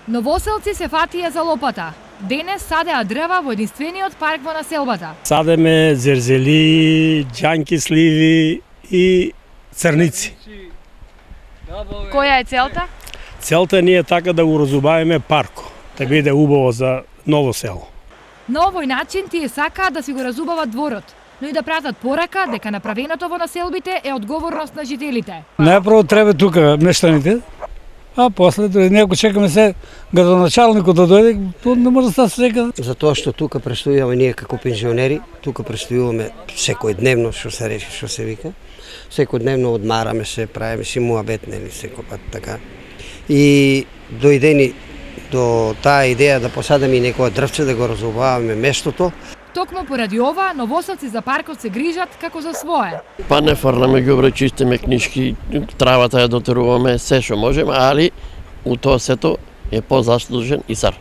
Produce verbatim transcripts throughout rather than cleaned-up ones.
Новоселци се фатија за лопата. Денес садеа дрва во единствениот парк во населбата. Садеме зерзели, џанки сливи и црници. Која е целта? Целта ни е така да го разубавиме парко, да биде убаво за ново село. На овој начин тие сакаат да си го разубават дворот, но и да пратат порака дека направеното во населбите е одговорност на жителите. Најпрво треба тука мештаните, а после не ако чекаме се градоначалникот да дојде, тоа не може да стане секаде. Затоа што тука престојуваме ние како пензионери, тука престојуваме секојдневно, што се рече, што се вика. Секојдневно одмараме се, правиме си муабет, нели, секој пат така. И дојдени до таа идеја да посадиме и некоја дрвче да го разубаваме местото. Токму поради ова, новоселци за паркот се грижат како за свое. Па не фрламе ѓубре, чистиме книшки, травата ја дотеруваме, се што можеме, али у тоа сето е позаслужен и цар.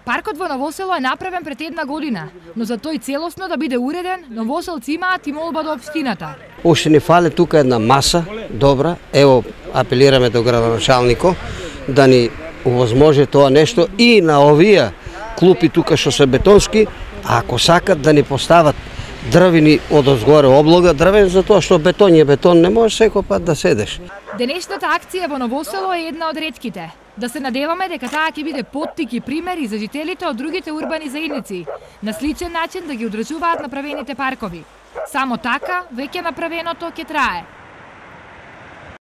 Паркот во Новосело е направен пред една година, но за тој целосно да биде уреден, новоселци имаат и молба до општината. Уште ни фале тука една маса, добра, ево апелираме до градоначалникот да ни овозможи тоа нешто и на овие клупи тука што се бетонски, а ако сакат да ни постават дрвени од озгоре облога, дрвен затоа што бетон е бетон, не може секој пат да седеш. Денешната акција во Новосело е една од ретките. Да се надеваме дека таа ќе биде поттик и пример и за жителите од другите урбани заедници, на сличен начин да ги одржуваат направените паркови. Само така, веќе направеното ќе трае.